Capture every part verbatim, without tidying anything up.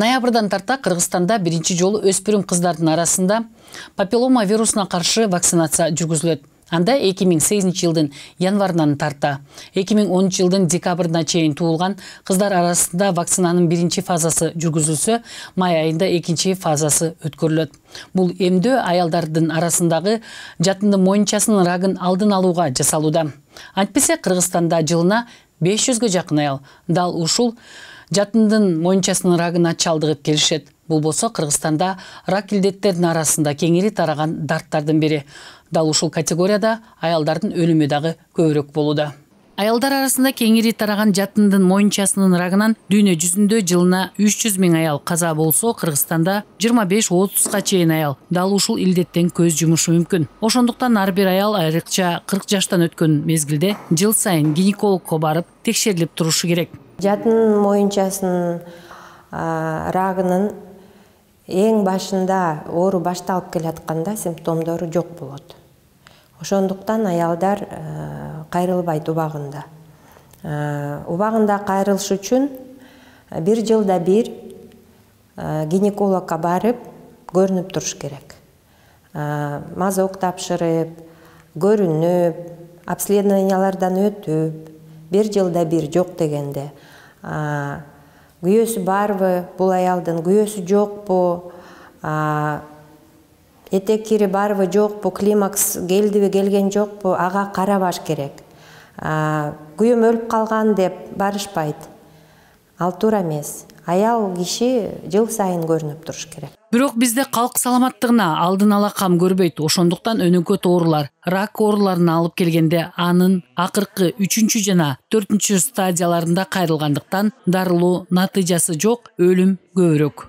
Ноябрдан тарта Кыргызстанда биринчи жолу өспүрүм кыздардын арасында папиллома вирусуна каршы вакцинация жүргүзүлөт. Анда эки миң сегизинчи жылдын январынан тарта эки миң онунчу жылдын декабрына чейин туулган кыздар арасында вакцинанын биринчи фазасы жүргүзүлсө, май айында экинчи фазасы өткөрүлөт. Бул эмдөө аялдардын арасындагы жатындын моюнчасынын рагын алдын алууга жасалууда. Антпесе Кыргызстанда жылына беш жүзгө жакын аял дал ушул жатындын моюнчасынын рагына чалдыгып келишет. Бул болсо Кыргызстанда рак илдеттердин арасында кеңири тараган дарттардын бири. Дал ушул категорияда аялдардын өлүмү дагы көбүрөөк болууда. Аялдар арасында кеңири тараган жатындын моюнчасынын рагынан дүйнө жүзүндө жылына үч жүз миң аял каза болсо, Кыргызстанда жыйырма беш отузга чейин аял дал ушул илдеттен көз жумушу мүмкүн. Ошондуктан ар бир аял айрыкча кырк жаштан өткөн мезгилде жыл сайын гинекологко барып текшерилип турушу керек. Жатын моюнчасынын рагынын эң башында оору башталып келатканда симптомдору жок болот. Ошондуктан аялдар кайрылбайт убагында. Убагында кайрылыш үчүн бир жылда бир гинекологко барып көрүнүп туруш керек. Мазок тапшырып, көрүнүп, обследованиялардан өтүп, бир жылда бир жок дегенде күйөөсү барбы, бул аялдын күйөөсү жокпу, этек кири барбы, жокпу, климакс келдиби, келген жокпу, ага карабаш керек. Күйөөм өлүп калган деп барышпайт. Ал туура эмес. Аял киши жыл сайын көрүнүп туруш керек. Бирок бизде калк саламаттыгына алдын ала кам көрбөйт. Ошондуктан өнөкөт оорулар, рак ооруларына алып келгенде анын акыркы үчүнчү жана төртүнчү стадияларында кайрылгандыктан дарылоо натыйжасы жок, өлүм көбүрөөк.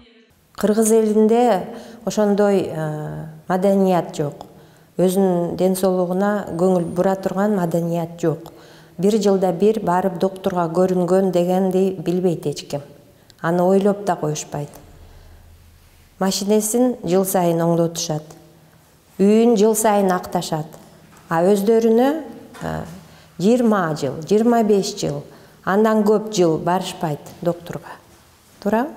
Кыргыз элинде ошондой маданият жок. Өзүнүн ден соолугуна көңүл бура турган маданият жок. Бир жылда бир барып доктурга көрүнгөн дегенди билбейт эч ким. Аны ойлоп да коюшпайт. Машинесин жыл сайын оңдотушат. Үйүн жыл сайын акташат. А өздөрүнө жыйырма жыл, жыйырма беш жыл, андан көп жыл барышпайт доктурга. Туурабы?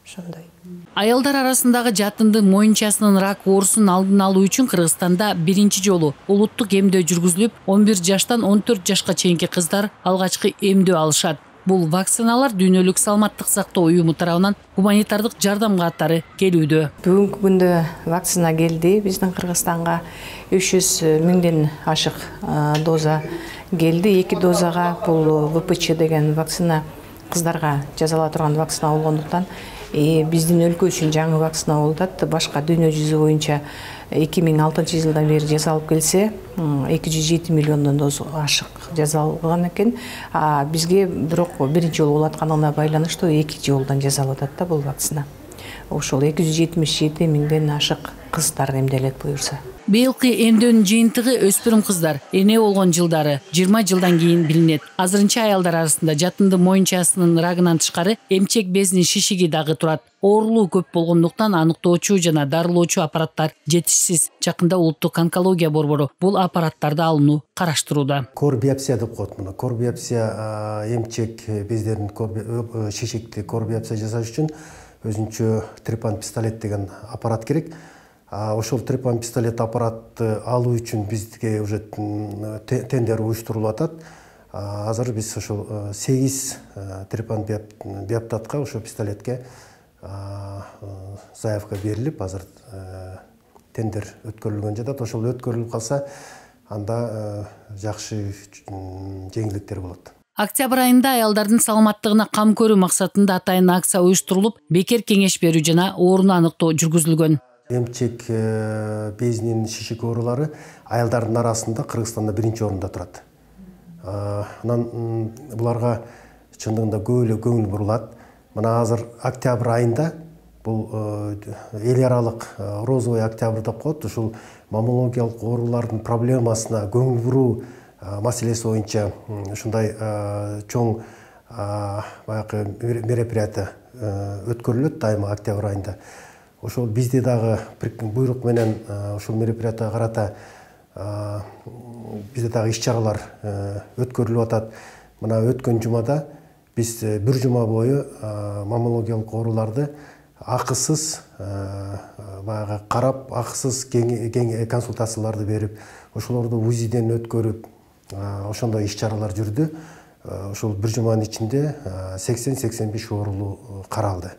Ошондой. Аялдар арасындагы жатындын моюнчасынын рак оорусун алдын алуу үчүн Кыргызстанда биринчи жолу улуттук эмдөө жүргүзүлүп, он бир жаштан он төрт жашка чейинки кыздар алгачкы эмдөө алышат. Бул вакциналар Дүйнөлүк саламаттык сактоо уюму тарабынан гуманитардык жардам катары келүүдө. Бүгүнкү күндө вакцина келди. Биздин Кыргызстанга үч жүз миңден ашык доза келди. Эки дозага бул вэ пэ че деген вакцина кыздарга жасала турган вакцина болгондуктан биздин өлкө үчүн жаңы вакцина болуп атат. Башка дүйнө жүзү боюнча эки миң алтынчы жылдан бери жасалып келсе, эки жүз жети миллиондон доза ашык жасалган экен. А бизге бирок биринчи жолу болуп атканына байланыштуу эки жолдон жасалып атат да бул вакцина. Ошол эки жүз жетимиш жети миңден ашык кыздар эмделет буюрса. Быйылкы эмдөөнүн жыйынтыгы өспүрүм кыздар эне болгон жылдары жыйырма жылдан кийин билинет. Азырынча аялдар арасында жатындын моюнчасынын рагынан тышкары эмчек безинин шишиги дагы турат. Оорулуу көп болгондуктан аныктоочу жана дарылоочу аппараттар жетишсиз. Жакында улуттук онкология борбору бул аппараттарды алууну караштырууда. Кор биопсия деп коет муну. Кор биопсия эмчек бездерин шишикти кор биопсия жасаш үчүн өзүнчө трепан пистолет деген аппарат керек. Ошол трепан пистолет аппаратты алуу үчүн бизге уже тендер уюштурулуп атат. Азыр биз ошол сегиз трепан биоптатка ошол пистолетке заявка берилип, азыр тендер өткөрүлгөн жатат. Ошол өткөрүлүп калса, анда жакшы жеңилдиктер болот. Октябрь айында аялдардын саламаттыгына кам көрүү максатында атайын акция уюштурулуп, бекер кеңеш берүү жана ооруну аныктоо жүргүзүлгөн. Эмчек безинин шишик оорулары аялдардын арасында Кыргызстанда биринчи орунда турат. Анан буларга чындыгында көп эле көңүл бурулат. Мына азыр октябрь айында бул эл аралык розовый октябрь деп коет. Ушул маммологиялык оорулардын проблемасына көңүл буруу маселеси боюнча ушундай чоң баягы мероприятие өткөрүлөт дайыма октябрь айында. Ошол бизде дагы буйрук менен ошол мероприятияга карата бизде дагы иш чаралар өткөрүлүп атат. Мына өткөн жумада биз бир жума бою маммологиялык ооруларды акысыз баягы карап, акысыз кең консультацияларды берип, ошолорду УЗИден өткөрүп, ошондой иш-чаралар жүрдү. Ошол бир жуманын ичинде сексен сексен беш оорулуу каралды.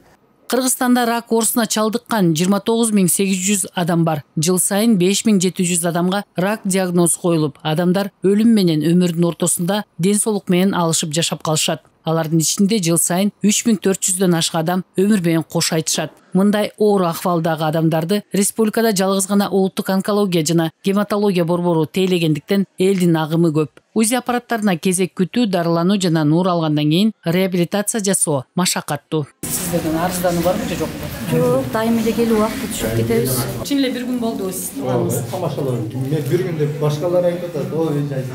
Кыргызстанда рак оорусуна чалдыккан жыйырма тогуз миң сегиз жүз адам бар. Жыл сайын беш миң жети жүз адамга рак диагнозу коюлуп, адамдар өлүм менен өмүрдүн ортосунда ден соолук менен алышып жашап калышат. Алардын ичинде жыл сайын үч миң төрт жүздөн ашык адам өмүр менен кош айтышат. Мындай оор акыбалдагы адамдарды республикада жалгыз гана улуттук онкология жана гематология борбору тейлегендиктен элдин агымы көп. УЗИ аппараттарына кезек күтүү, дарылануу жана нуур алгандан кийин реабилитация жасоо машакаттуу. Сиздердин арыздануу барбы же жокпу? Жок, дайыма эле келип убакытта түшүп кетебиз. Чын эле бир күн болду сиз турганыңыз. Тамашалап, мен бир күн деп башкалар айтып атат, ой жайсыз.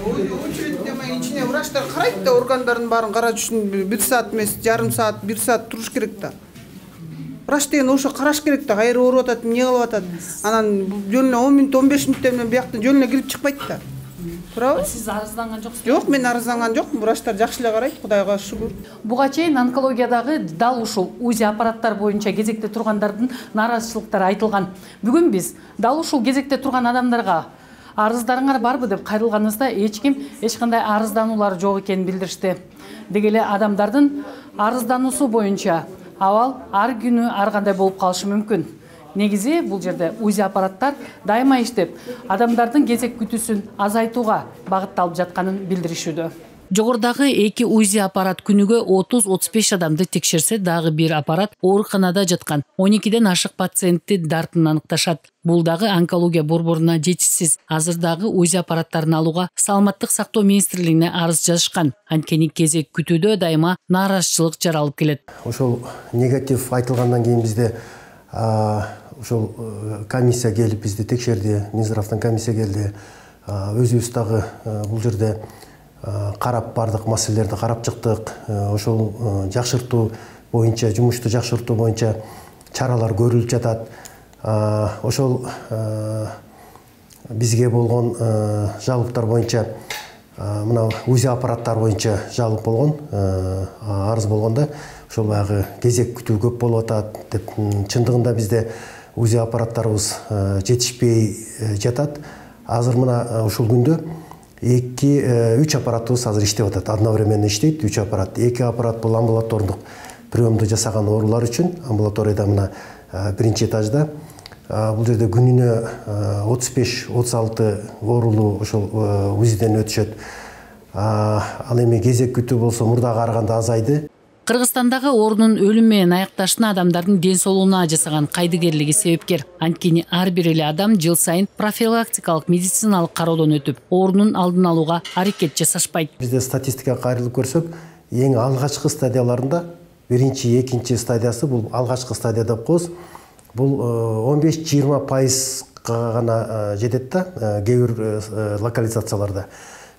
Очередь демей ичине врачтар карайт да, органдардын баарын караш үчүн бир саат эмес, жарым саат, бир саат туруш керек да. Врач деген ошо караш керек да, кайра ооруп атат, эмне кылып атат. Анан жөнүнө он мүнөт, он беш мүнөттөн менен бияктан жөнүнө кирип чыкпайт да. Туурабы? Сиз арызданган жоксуз? Жок, мен арызданган жокмун. Врачтар жакшы эле карайт, Кудайга шүгүр. Буга чейин онкологиядагы дал ушул УЗИ аппараттар боюнча кезекте тургандардын нааразычылыктары айтылган. Бүгүн биз дал ушул кезекте турган адамдарга арыздарыңар барбы деп кайрылганыбызда эч ким эч кандай арыздануулар жок экенин билдиришти. Деги эле адамдардын арыздануусу боюнча абал ар күнү ар кандай болуп калышы мүмкүн. Негизи бул жерде УЗИ аппараттар дайыма иштеп, адамдардын кезек күтүүсүн азайтууга багытталып жатканын билдиришүүдө. Жогорудагы эки УЗИ аппарат күнүгө отуз отуз беш адамды текшерсе, дагы бир аппарат ооруканада жаткан он экиден ашык пациентти дартын аныкташат. Бул дагы онкология борборуна жетишсиз. Азыр дагы УЗИ аппараттарын алууга Саламаттык сактоо министрлигине арыз жазышкан. Анткени кезек күтүүдө дайыма нааразычылык жаралып келет. Ошол негатив айтылгандан кийин бизде ошол комиссия келип бизди текшерди, Минздравдан комиссия келди. Өзүбүз дагы бул жерде карап бардык маселелерди карап чыктык. Ошол жакшыртуу боюнча, жумушту жакшыртуу боюнча чаралар көрүлүп жатат. Ошол бизге болгон жалоптор боюнча мына УЗИ аппараттар боюнча жалоп болгон, арыз болгондо ошол баягы кезек күтүү көп болуп атат деп. Чындыгында бизде УЗИ аппараттарыбыз жетишпей жатат. Азыр мына ушул күндө эки үч аппаратыбыз азыр иштеп атат. Одновременно иштейт үч аппарат. Эки аппарат бул амбулатордук приемду жасаган оорулар үчүн. Амбулаторияда мына биринчи этажда. Бул жерде күнүнө отуз беш отуз алты оорулуу ошол УЗИден өтүшөт. Ал эми кезек күтүү болсо мурдага караганда азайды. Кыргызстандагы оорунун өлүм менен аякташына адамдардын ден соолугуна жасаган кайдыгерлиги себепкер. Анткени ар бир эле адам жыл сайын профилактикалык медициналык кароодон өтүп, оорунун алдын алууга аракет жасашпайт. Бизде статистикага кайрылып көрсөк, эң алгачкы стадияларында биринчи, экинчи стадиясы бул алгачкы стадия деп коебуз. Бул он беш жыйырма пайызга гана жетет да, кээ бир локализацияларда.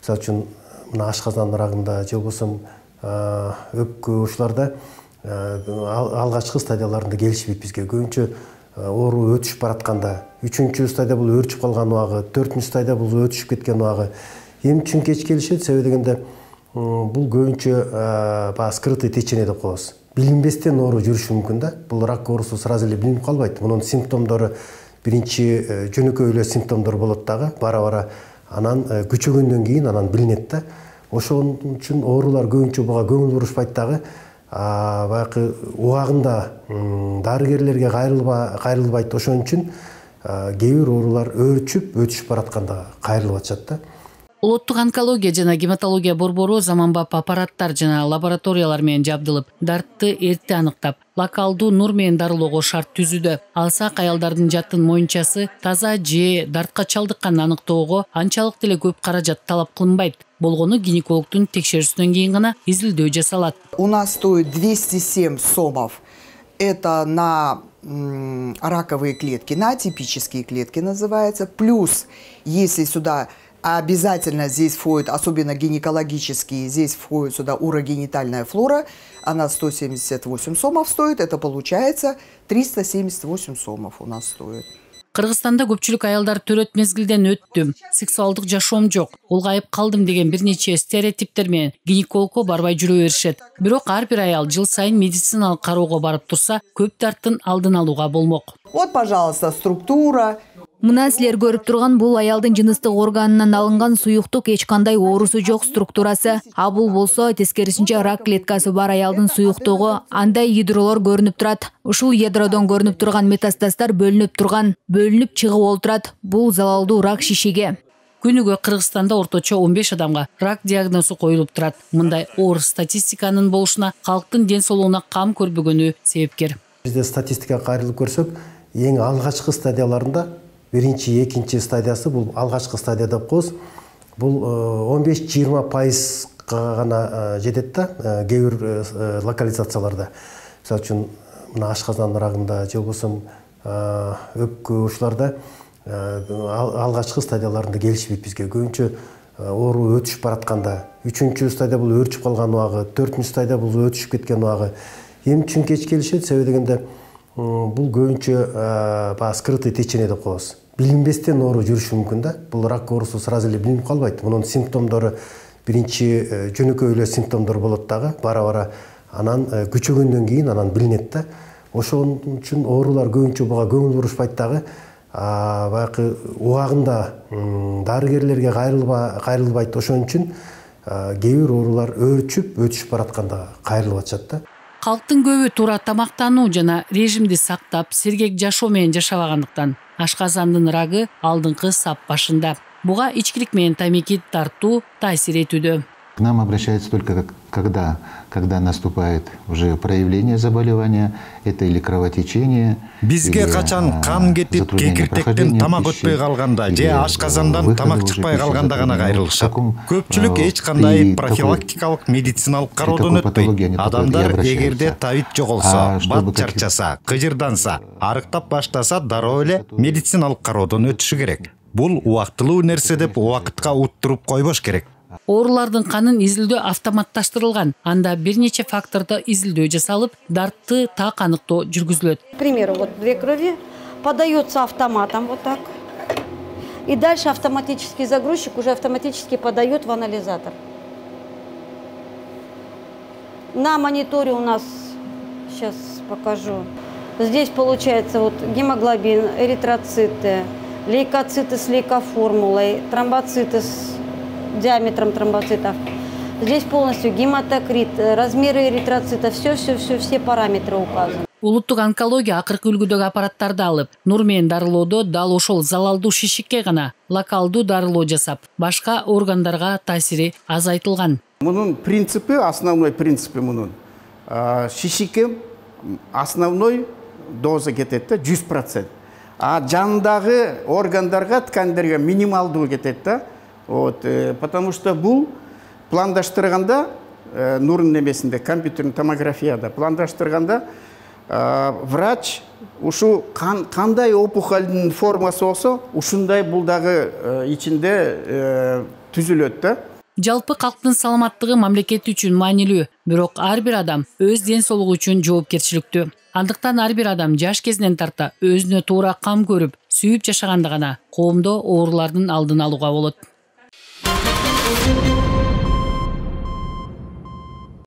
Мисалы үчүн мына ашказан рагында же болбосо өпкө ушуларда алгачкы стадияларында келишпейт бизге. Көбүнчө оору өтүшүп баратканда, үчүнчү стадия бул өөрчүп калган убагы, төртүнчү стадия бул өтүшүп кеткен убагы. Эмне үчүн кеч келишет? Себеби дегенде бул көбүнчө баягы скрытый течение деп коебуз. Билинбестен оору жүрүшү мүмкүн да. Бул рак оорусу сразу эле билинип калбайт. Мунун симптомдору биринчи жөнөкөй эле симптомдор болот дагы, бара-бара анан күчөгөндөн кийин анан билинет да. Ошон үчүн оорулар көбүнчө буга көңүл бурушпайт дагы. Баягы убагында дарыгерлерге кайрылбайт. Ошон үчүн кээ бир оорулар өөрчүп, өтүшүп баратканда кайрылып атышат да. Улуттук онкология жана гематология борбору заманбап аппараттар жана лабораториялар менен жабдылып, дартты эрте аныктап, локалдуу нур менен дарылоого шарт түзүүдө. Алсак аялдардын жатын моюнчасы таза же дартка чалдыкканын аныктоого анчалык деле көп каражат талап кылынбайт. Болгону гинекологдун текшерүүсүнөн кийин гана изилдөө жасалат. У нас стоит двести семь сомов. Это на м, раковые клетки, на атипические клетки называется. Плюс, если сюда обязательно здесь входит, особенно гинекологические, здесь входит сюда урогенитальная флора, она сто семьдесят восемь сомов стоит, это получается триста семьдесят восемь сомов у нас стоит. Кыргызстанда көпчүлүк аялдар төрөт мезгилден өттүм, сексуалдык жашоом жок, улгайып калдым деген бир нече стереотиптер менен гинекологко барбай жүрө беришет. Бирок ар бир аял жыл сайын медициналык кароого барып турса, көп дарттын алдын алууга болмок. Вот, пожалуйста, структура. Мына силер көрүп турган бул аялдын жыныстык органынан алынган суюктук, эч кандай оорусу жок структурасы. А бул болсо тескерисинче рак клеткасы бар аялдын суюктугу. Андай ядролор көрүнүп турат. Ушул ядродон көрүнүп турган метастаздар бөлүнүп турган, бөлүнүп чыгып олтурат. Бул залалдуу рак шишеге. Күнүгө Кыргызстанда орточо он беш адамга рак диагнозу коюлуп турат. Мындай оор статистиканын болушуна калктын ден соолугуна кам көрбөгөнү себепкер. Бизде статистикага кайрылып көрсөк, эң алгачкы стадияларында биринчи, экинчи стадиясы бул алгачкы стадия деп коебуз. Бул он беш жыйырма пайызга гана жетет да, кээ бир локализацияларда. Мисалы үчүн мына ашказан рагында же болбосо өпкө ушуларда алгачкы стадияларында келишпейт бизге. Көбүнчө оору өтүшүп баратканда, үчүнчү стадия бул өөрчүп калган убагы, төртүнчү стадия бул өтүшүп кеткен убагы. Эмне үчүн кеч келишет? Себеби дегенде бул көбүнчө баягы скрытый течение деп коебуз. Билинбестен оору жүрүшү мүмкүн да. Бул рак оорусу сразу эле билинип калбайт. Мунун симптомдору биринчи жөнөкөй эле симптомдор болот дагы, бара-бара анан күчөгөндөн кийин анан билинет да. Ошон үчүн оорулар көбүнчө буга көңүл бурушпайт дагы. Баягы убагында дарыгерлерге кайрылбайт. Ошон үчүн кээ бир оорулар өөрчүп, өтүшүп баратканда кайрылып атышат да. Калктын көбү туура тамактануу жана режимди сактап, сергек жашоо менен жашабагандыктан ашказандын рагы алдыңкы сап башында. Буга ичкилик менен тамеки тартуу таасир этүүдө. К нам обращаются только когда, когда наступает уже проявление заболевания, это или кровотечение. Бизге качан кан кетип, кекиртектен тамак өтпөй калганда же ашказандан тамак чыкпай калганда гана кайрылышат. Көпчүлүк эч кандай профилактикалык медициналык кароодон өтпөйт. Адамдар эгерде табит жоголсо, бат чарчаса, кыжырданса, арыктап баштаса, дароо эле медициналык кароодон өтүшү керек. Бул убактылуу нерсе деп убакытка уттуруп койбош керек. Оорулардын канын изилдөө автоматташтырылган. Анда бир нече фактордо изилдөө жасалып, дартты так аныктоо жүргүзүлөт. К примеру, вот две крови подается автоматом вот так. И дальше автоматический загрузчик уже автоматически подает в анализатор. На мониторе у нас, сейчас покажу, здесь получается вот гемоглобин, эритроциты, лейкоциты с лейкоформулой, тромбоциты с диаметром тромбоцитов. Здесь полностью гематокрит, размеры эритроцитов, все-все-все, все параметры указаны. Улуттук онкология акыркы үлгүдөгү аппараттарды алып, нур менен дарылоодо дал ошол залалдуу шишикке гана локалдуу дарылоо жасап, башка органдарга таасири азайтылган. Мунун принципи, основной принципи мунун шишикке основной доза кетет да жүз процент. А жандагы органдарга, ткандерге минималдуу кетет да. Вот, э, потому что бул пландаштырганда э, нурун немесинде, компьютерный томографияда пландаштырганда э, врач ушу кан, кандай опухолдун формасы болсо, ушундай бул дагы э, ичинде э, түзүлөт да. Жалпы калктын саламаттыгы мамлекет үчүн маанилүү, бирок ар бир адам өз ден соолугу үчүн жоопкерчиликтүү. Андыктан ар бир адам жаш кезинен тарта өзүнө туура кам көрүп, сүйүп жашаганда гана коомдо оорулардын алдын алууга болот.